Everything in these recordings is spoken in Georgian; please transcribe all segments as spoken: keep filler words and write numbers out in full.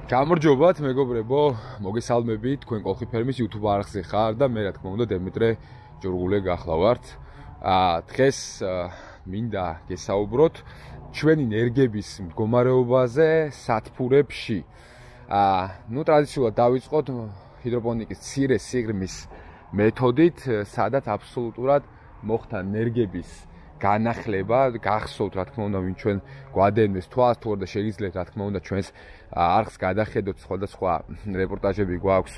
გამარჯობათ მეგობრებო, მოგესალმებით თქვენ კოლხი ფერმის YouTube არხზე ხარ და მე რა თქმა უნდა დემიტრე ჯორგულე გახლავართ. დღეს მინდა გესაუბროთ ჩვენი ნერგების მდგომარეობაზე სათბურებში. ნუ ტრადიციულად დავიწყოთ ჰიდროპონიკის მცირე სიღრმის მეთოდით, სადაც აბსოლუტურად მოხდა ნერგების განახლება, გახსოვთ რა თქმა უნდა ვინ ჩვენ გვადენეს თვალს თუ არა შეგიძლიათ რა თქმა უნდა ჩვენს არხს გადახედოთ სხვადასხვა რეპორტაჟები გვაქვს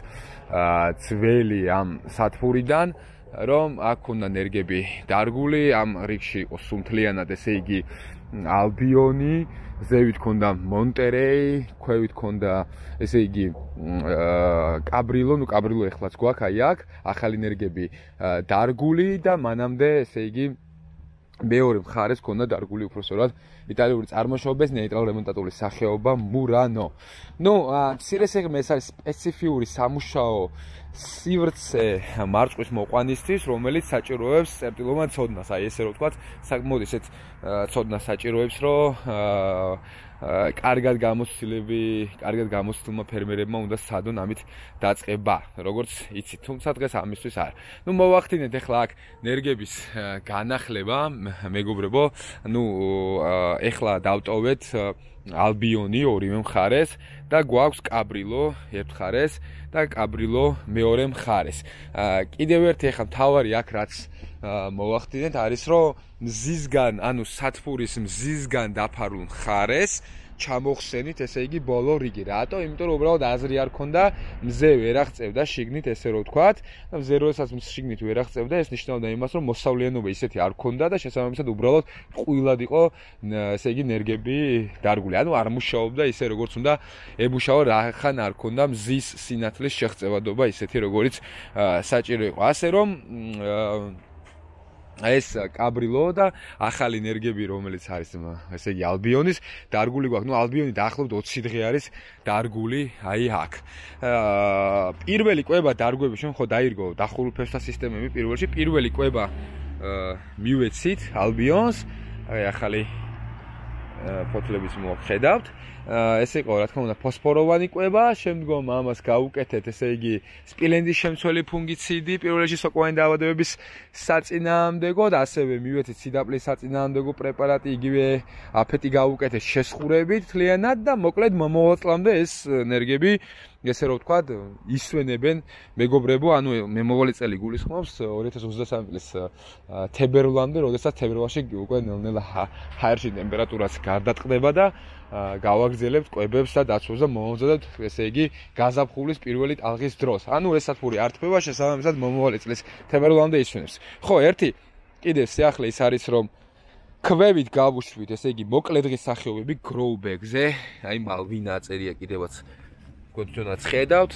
ძველი ამ სათბურიდან რომ აქ უნდა ნერგები დარგული ამ რიგში იყო სუმთლიანად ესე იგი ალბიონი ზევით ქონდა მონტერეი ქვევით ქონდა ესე იგი კაბრილო ნუ კაბრილო ეხლაც გვაქვს აი აქ ახალი ნერგები დარგული და მანამდე ესე იგი მეორე მხარეს ქონდა დარგული უпроსორად იტალიური წარმოშობის ნეიტრალ რემონტატული სახეობა მურანო. ნუ მცირე სიღრმე ეს არის სპეციფიური სამუშაო სივრცე მარწყვის მოყვანისთვის, რომელიც საჭიროებს წერტილოვან ცოდნას. აი ესე რომ ვთქვათ, საკმაოდ ესეთ ცოდნას საჭიროებს, რომ კარგად გამოცდილები, კარგად გამოცდილმა ფერმერებმა უნდა სცადონ ამით დაწყება, როგორც იცით, თუმცა დღეს ამისთვის არ. ნუ მოვახდინეთ ახლა აქ ნერგების განახლება, მეგობრებო, ნუ ახლა დავტოვეთ ალბიონი ორივე მხარეს და გვაქვს კაბრილო ერთ მხარეს და კაბრილო მეორე მხარეს. კიდევ ერთი ახლა მთავარი აქ რაც მოვახდინეთ არის რომ მზისგან, ანუ სათბურის მზისგან დაფარულ მხარეს ჩამოხსენით ესე იგი ბოლო რიგი. რატო? იმიტომ რომ უბრალოდ აზრი არ ქონდა, მზე ვერ აღწევდა შიგნით ესე რომ ვთქვათ. მზე როდესაც შიგნით ვერ აღწევდა, ეს ნიშნავდა იმას, რომ მოსავლიანობა ისეთი არ ქონდა და შესაბამისად უბრალოდ ყვილად იყო ესე იგი ნერგები დარგული. ანუ არ მუშაობდა ისე როგორც უნდა ემუშაო, რახან არ ქონდა მზის სინათლის შეღწევადობა ისეთი როგორც საჭირო იყო. ასე რომ ეს კაბრილო და ახალი ნერგები რომელიც არის ესე იგი ალბიონის დარგული გვაქვს. ნუ ალბიონი დაახლოებით ოცი დღე არის დარგული აი აქ. პირველი კვება დარგვები ჩვენ ხო დაირგო დახურულ ფესვთა სისტემები პირველში. პირველი კვება მივეცით ალბიონს, აი ახალი ფოთლების მოვხედავთ. ესე იყო რა თქმა უნდა ფოსფოროვანი კვება, შემდგომ ამას გავუკეთეთ ესე იგი სპილენდის შემცველი ფუნგიციდი პირველში სოკოვანი დაავადებების საწინააღმდეგოდ, ასევე მივეცით სიდაპლის საწინააღმდეგო პრეპარატი, იგივე აფეტი გავუკეთეთ შესხურებით თლიანად და მოკლედ მომავალ წლამდე ეს ნერგები ესე რომ ვთქვათ ისვენებენ მეგობრებო, ანუ მომავალი წელი გულისხმობს ორი ათას ოცდასამი წლის თებერვლამდე, როდესაც თებერვალში უკვე ნელ-ნელა ჰაერში ტემპერატურაც გარდატყდება და გავაგრძელებთ კვებებს და დაცვას და მოვამზადოთ ესე იგი გაზაფხულის პირველი ტალღის დროს. ანუ ეს სათბური არ თბება, შესაბამისად მომავალი წლის თებერვლამდე ისვენებს. ხო, ერთი კიდევ სიახლე ის არის რომ ქვევით გავუშვით ესე იგი მოკლე დღის სახეობები გროუბეგზე, აი მალვინა წერია კიდევაც გოდონაც ხედავთ.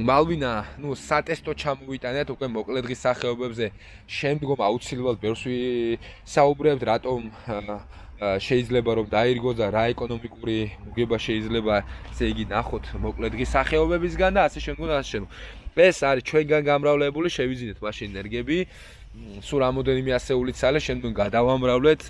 მალვინა, ნუ სატესტო ჩამოვიტანეთ უკვე მოკლე დღის სახეობებზე, შემდგომ აუცილებლად ბევრს ვისაუბრებთ, რატომ შეიძლება რომ დაირგოს და რა ეკონომიკური მოგება შეიძლება ესე იგი ნახოთ მოკლე დღის სახეობებისგან და ასე შემდგომ და ასე შემდგომ. ეს არის ჩვენგან გამრავლებული, შევიძინეთ მაშინ ნერგები, სულ რამოდენიმე ასეული ცალე, შემდგომ გადავამრავლეთ.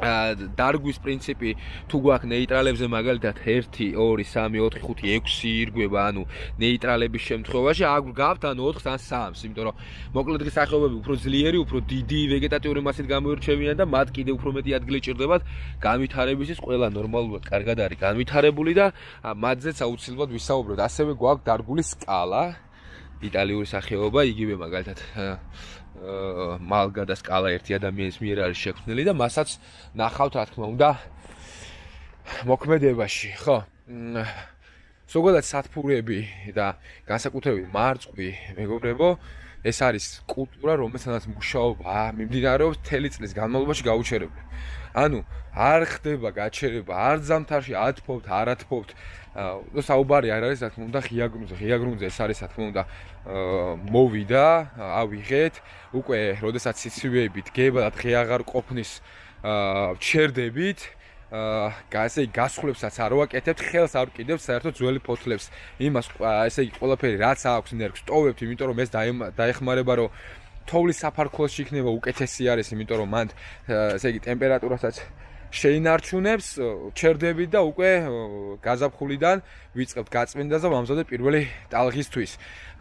დარგვის პრინციპი თუ გვაქვს ნეიტრალებზე მაგალითად ერთი, ორი, სამი, ოთხი, ხუთი, ექვსი ირგვება, ანუ ნეიტრალების შემთხვევაში აქ გვგავთ ანუ ოთხს ან სამს, იმიტომ რომ მოკლე დღის სახეობები უფრო ძლიერი, უფრო დიდი ვეგეტატიური მასით გამოირჩევიან და მათ კიდევ უფრო მეტი ადგილი ჭირდებათ განვითარებისთვის. ყველა ნორმალურად კარგად არის განვითარებული და მათზეც აუცილებლად ვისაუბროთ. ასევე გვაქვს დარგული სკალა, იტალიური სახეობა, იგივე მაგალითად მალგა და სკალა ერთი ადამიანის მიერ არის შექმნილი და მასაც ნახავთ რა თქმა უნდა მოქმედებაში, ხო? ზოგადად სათბურები და განსაკუთრებით მარწყვი, მეგობრებო, ეს არის კულტურა, რომელსაც მუშაობა მიმდინარეობს მთელი წლის განმავლობაში გაუჩერებლად. ანუ არ ხდება გაჩერება, არ ზამთარში ათფობთ, არ ათფობთ. საუბარი არ არის რა თქმა უნდა ღია გრუნტზე. ღია გრუნტზე ეს არის რა თქმა უნდა მოვიდა, ავიღეთ, უკვე როდესაც სიცივეები დგება და დღე აღარ ყოფნის ჩერდებით, ასე იგი გასხლებსაც არ ვაკეთებთ, ხელს არ ვკიდევთ საერთოდ ძველი ფოთლებს. იმას ესე იგი ყველაფერი რაც აქვს ნერგს ტოვებთ, იმიტომ რომ ეს დაეხმარება რომ თოვლის საფარქლოში იქნება უკეთესი არის, იმიტომ რომ მან ესე იგი ტემპერატურასაც შეინარჩუნებს ჩერდები და უკვე გაზაფხულიდან ვიწყებთ გაწმენდას და ვამზადებ პირველი ტალღისთვის.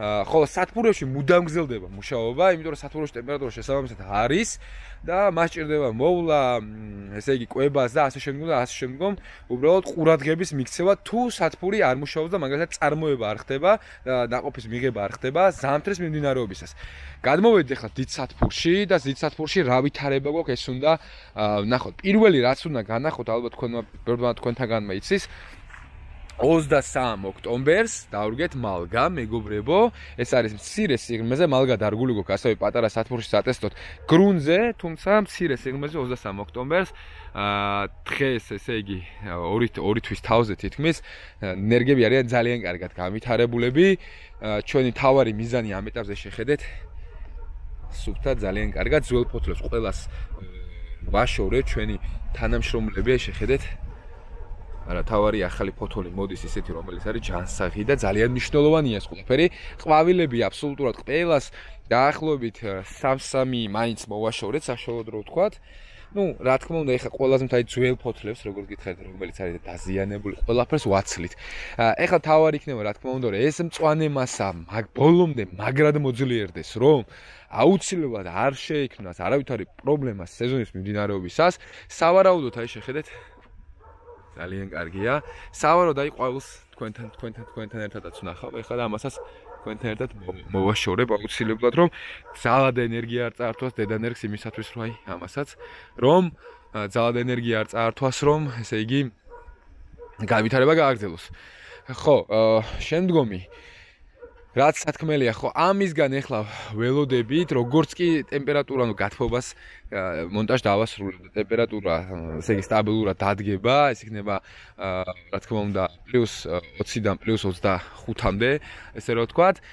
ხოლო სათბურებში მუდამ გრძელდება მუშაობა, იმიტომ რომ სათბურებში ტემპერატურა შესაბამისად არის და მას ჭირდება მოვლა, ესე იგი კვებას და ასე შემდგომ და ასე შემდგომ, უბრალოდ ყურადღების მიქცევა თუ სათბური არ მუშაობს და მაგალითად წარმოება არ ხდება, ნაყოფის მიღება არ ხდება ზამთრის მიმდინარეობისას. გადმოვედით ახლა დიდ სათბურში და დიდ სათბურში რა ვითარება გვაქვს ეს უნდა ნახოთ. პირველი რაც უნდა განახოთ, ალბათ თქვენმა ბერდმა თქვენთაგანმა იცის ოცდასამ ოქტომბერს დავრგეთ მალგა, მეგობრებო, ეს არის მცირე სიღრმეზე, მალგა დარგული გვაქვს ასევე პატარა სათბურში სატესტოდ გრუნზე, თუმცა მცირე სიღრმეზე ოცდასამ ოქტომბერს დღეს, ესე იგი, ორი თვის თავზე თითქმის ნერგები არიან ძალიან კარგად განვითარებულები. ჩვენი თავარი მიზანი ამ ეტაპზე შეხედეთ სუფთა ძალიან კარგად ძველ ფოთლებს ყველას ვაშორეთ ჩვენი თანამშრომლები შეხედეთ არა თავარი ახალი ფოთოლი მოდის ისეთი რომელიც არის ჯანსაღი და ძალიან მნიშვნელოვანია ეს ყველაფერი ყვავილები აბსოლუტურად ყველას დაახლოებით სამ-სამი მაინც მოვაშორეთ საშუალოდ რო ვთქვათ ну რა თქმა უნდა ეხა ყველაზე მთელი ძველ ფოთლებს როგორც გითხარით რომელიც არის დაზიანებული ყველაფერს ვაცლით ეხა თავარი იქნება რა თქმა უნდა რომ ეს მწვანე მასა მაგ ბოლომდე მაგრად მოძლიერდეს რომ აუცილებლად არ შეექმნას არავითარი პრობლემა სეზონის მიმდინარეობისას სავარაუდოდ აი შეხედეთ ძალიან კარგია სავარაუდოდ აი ყვავილს თქვენთან თქვენთან თქვენთან ერთადაც ვნახავ ეხლა და ამასაც თქვენთან ერთად მოვაშორებ აუცილებლად რომ ძალად ენერგია არ წაართვას დედანერგს იმისათვის რომ აი ამასაც რომ ძალად ენერგია არ წაართვას რომ ესე იგი განვითარება გააგრძელოს ხო შემდგომი რაც სათქმელია ხო ამისგან ეხლა ველოდებით როგორც კი ტემპერატურა ნუ გათბობას მონტაჟ დავასრულებ ტემპერატურა ესე იგი სტაბილურად დადგება ეს იქნება რა თქმა უნდა პლუს ოციდან პლუს ოცდახუთამდე ესე რომ ვთქვათ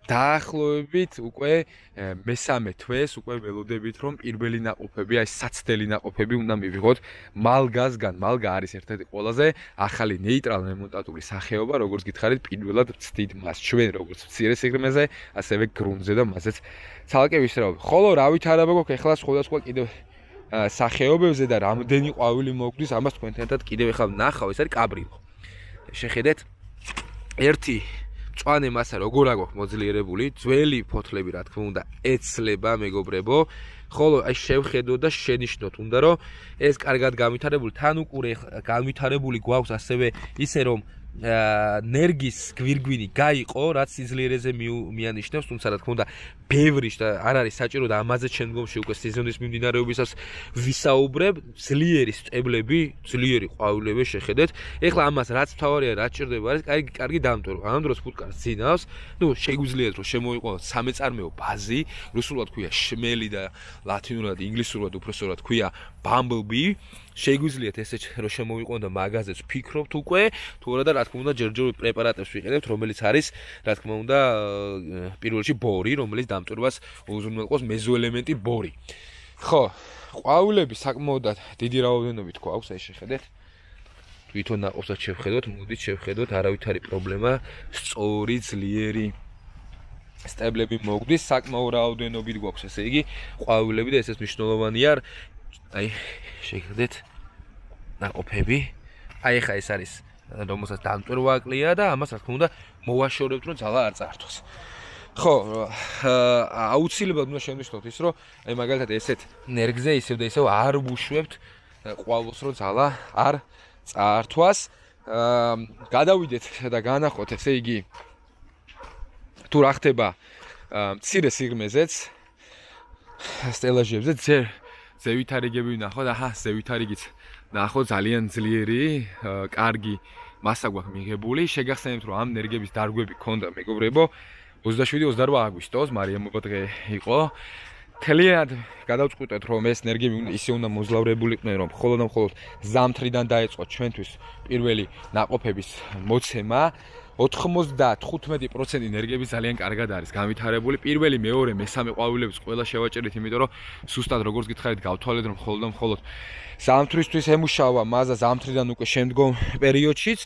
დაახლოებით უკვე მესამე თვეს უკვე ველოდებით რომ პირველი ნაყოფები აი საცდელი ნაყოფები უნდა მივიღოთ მალგასგან მალგა არის ერთ-ერთი ყველაზე ახალი ნეიტრალ რემონტატული სახეობა როგორც გითხარით პირველად ვცდით მას ჩვენ როგორც მცირე სიღრმეზე ასევე გრუნზე და მასეც ცალკე ვისწავლებ ხოლო რა ვითარება გვაქვს ეხლა სხვადასხვა კიდევ სახეობებზე და რამდენი ყვავილი მოგვდის ამას თქვენთან ერთად კიდევ ეხლა ვნახავ ეს არის კაბრილო შეხედეთ ერთი მწვანე მასა როგორ აქვს მოძლიერებული ძველი ფოთლები რა თქმა უნდა ეცლება მეგობრებო ხოლო აი შევხედოთ და შენიშნოთ უნდა რომ ეს კარგად განვითარებული თან უყურე განვითარებული გვაქვს ასევე ისე რომ ნერგის გვირგვინი გაიყო რაც სიძლიერეზე მიანიშნებს თუმცა რა თქმა უნდა ბევრი და არ არის საჭირო და ამაზე შემდგომში უკვე სეზონის მიმდინარეობისას ვისაუბრებ ძლიერი სტებლები ძლიერი ყვავილები შეხედეთ ეხლა ამას რაც თავარია რაც ჭირდება არის კარგი კარგი დამტვერო ამ დროს ფუტკარს ძინავს ნუ შეგვიძლიათ რომ შემოიყვანოთ სამეწარმეო ბაზი რუსულად ქვია შმელი და ლათინურად ინგლისურად უბრალოდ ქვია bumblebee შეგვიძლიათ ესე რომ შემოვიყვანოთ და მაღაზიას ვფიქრობთ უკვე თუ არა და რა თქმა უნდა ჯერჯერობით პრეპარატებს ვიყენებთ რომელიც არის რა თქმა უნდა პირველ რიგში ბორი რომელიც დამტვერვას უზრუნველყოფს მეზოელემენტი ბორი ხო ყვავილები საკმაოდ დიდი რაოდენობით გვაქვს აი შეხედეთ თვითონ ნაყოფსაც შევხედოთ მოდით შევხედოთ არავითარი პრობლემა სწორი ძლიერი სტებლები მოგვდის საკმაოდ რაოდენობით გვაქვს ესე იგი ყვავილები და ესეც მნიშვნელოვანია აი შეხედეთ ნაყოფები აი ხა ეს არის რომელსაც დამტვერვა აკლია და ამას რა თქმა უნდა მოვაშორებთ რომ ძალა არ წაართვას ხო აუცილებლად უნდა შევნიშნოთ ის რომ აი მაგალითად ესეთ ნერგზე ისევ და ისევ არ ვუშვებთ ყვავილს რომ ძალა არ წაართვას გადავიდეთ და განახოთ ესე იგი თუ რა ხდება მცირე სიღრმეზეც სტელაჟებზე ძე ზევითარიგები ვნახოთ აჰა ზევითარიგიც ნახო ძალიან ძლიერი კარგი მასა გვაქვს მიღებული შეგახსენებთ რომ ამ ნერგების დარგვები ქონდა მეგობრებო ოცდაშვიდი ოცდარვა აგვისტოს მარიამობა დღე იყო თლიანად გადავწყვიტეთ რომ ეს ნერგები ისე უნდა მოზლავრებულიყვნენ რომ მხოლოდ და მხოლოდ ზამთრიდან დაეწყო ჩვენთვის პირველი ნაყოფების მოცემა ოთხმოცდათხუთმეტი პროცენტი ნერგები ძალიან კარგად არის განვითარებული პირველი მეორე მესამე ყვავილების ყველა შევაჭერეთ იმიტომ რომ სუსტად როგორც გითხარით გავთვალეთ რომ მხოლოდ და მხოლოდ ზამთრისთვის ემუშავა მაზა ზამთრიდან უკვე შემდგომ პერიოდშიც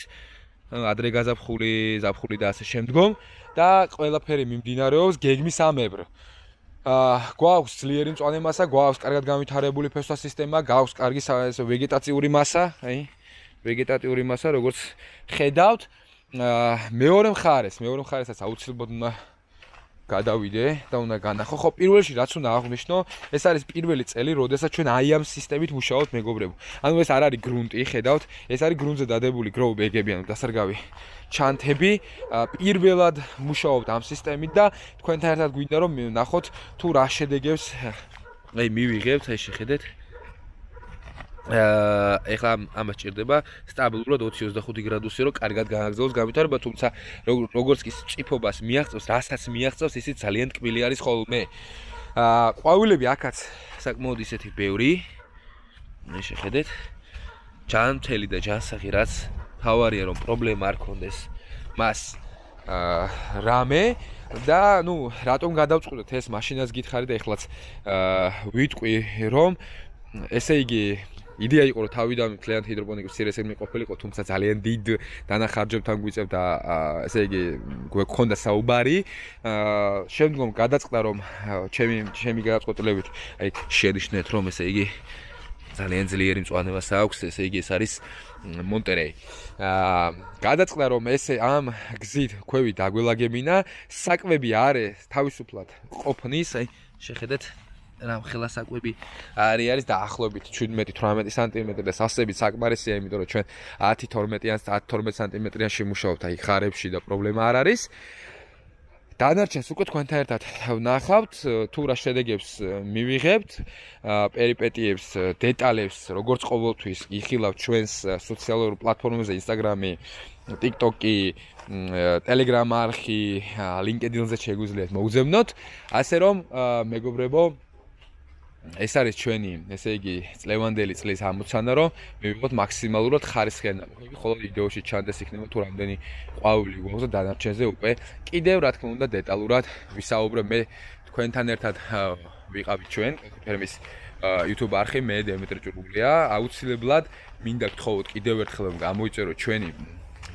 ადრე გაზაფხული ზაფხული და ასე შემდგომ და ყველაფერი მიმდინარეობს გეგმის ამებრ აა გვაქვს ძლიერი მწვანე მასა, გვაქვს კარგად განვითარებული ფესვა სისტემა, გვაქვს კარგი ვეგეტაციური მასა, აი, ვეგეტატიური მასა, როგორც ხედავთ. აა მეორე მხარეს, მეორე მხარესაც აუცილებლად უნდა გადავიდე და უნდა განახო. ხო, პირველში რაც უნდა აღვნიშნო, ეს არის პირველი წელი, როდესაც ჩვენ აი ამ სისტემით მუშაობთ, მეგობრებო. ანუ ეს არ არის გრუნტი, ხედავთ, ეს არის გრუნტზე დადებული grow bag-ები, ანუ დასარგავი ჩანთები. პირველად მუშაობთ ამ სისტემით და თქვენთან ერთად გვინდა რომ ნახოთ თუ რა შედეგებს აი მივიღებთ, აი შეხედეთ. აა ეხლა ამას ჭირდება სტაბილურად ოცი ოცდახუთი გრადუსი რომ კარგად გააგრძელოს განვითარება, თუმცა როგორც კი წიფობას მიაღწევს, რასაც მიაღწევს, ისიც ძალიან ტკბილი არის ხოლმე. აა ყვავილები აქაც საკმაოდ ისეთი ბევრი. მე შეხედეთ. ჯანმრთელი და ჯანსაღი, რაც თავარია რომ პრობლემა არ ქონდეს მას აა რამე და ნუ რატომ გადავწყვიტეთ ეს მაშინაც გითხარი და ეხლაც აა ვიტყვი რომ ესე იგი იდეა იყო რომ თავიდან კლიენტ ჰიდროპონიკის სირესები ყოფილიყო, თუმცა ძალიან დიდ დანახარჯებთან გვიწევდა ესე იგი გვექონდა საუბარი. აა შემდგომ გადაწყდა რომ ჩემი ჩემი გადაწყვეტილებით აი შენიშნეთ რომ ესე იგი ძალიან ძლიერი მწვანე მასა აქვს, ესე იგი ეს არის მონტერეი. აა გადაწყდა რომ ესე ამ გზით ქვევი დაგველაგებინა, საკვები არის თავისუფლად ყოფნის, აი შეხედეთ რამ ხელა საკვები არის არის დაახლოებით შვიდმეტი თვრამეტი სანტიმეტრი და სასწრებით საკმარისია, იმიტომ რომ ჩვენ ათი თორმეტიან ათი თორმეტ სანტიმეტრიანში მუშაობთ, აი ხარებში და პრობლემა არ არის. დანარჩენს უკვე თქვენთან ერთად ვნახავთ, თუ რა შედეგებს მივიღებთ, პერიპეტიებს, დეტალებს, როგორც ყოველთვის იხილავთ ჩვენს სოციალურ პლატფორმებზე, Instagram-ი, TikTok-ი, Telegram არხი, LinkedIn-ზე შეგვიძლიათ მოგზავნოთ, ასე რომ მეგობრებო ეს არის ჩვენი, ესე იგი, წლევანდელი წლის ამოცანა, რომ მივიღოთ მაქსიმალურად ხარისხიანი ნაბიჯი. ხოლო ვიდეოში ჩანდეს იქნება თუ რამდენი ყვავილი გვაქვს და დანარჩენზე უკვე კიდევ რა თქმა უნდა დეტალურად ვისაუბრებ. მე თქვენთან ერთად ვიყავით ჩვენ ფერმის YouTube არხი, მე დემეტრე ჭურგულია. აუცილებლად მინდა გთხოვოთ კიდევ ერთხელ გამოიწეროთ ჩვენი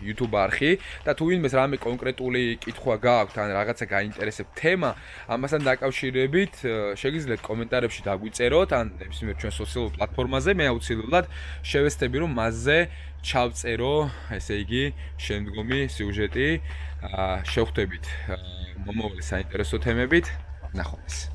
YouTube არხი და თუ ვინმეს რამე კონკრეტული კითხვა გააქვთ ან რაღაცა გაინტერესებთ თემა, ამასთან დაკავშირებით შეგიძლიათ კომენტარებში დაგვიწეროთ ან ნებისმიერ ჩვენ სოციალურ პლატფორმაზე. მე აუცილებლად შევეცდები რომ მასზე ჩავწერო, ესე იგი, შემდგომი სიუჟეტი. შევხვდებით მომავალი საინტერესო თემებით. ნახვამდის.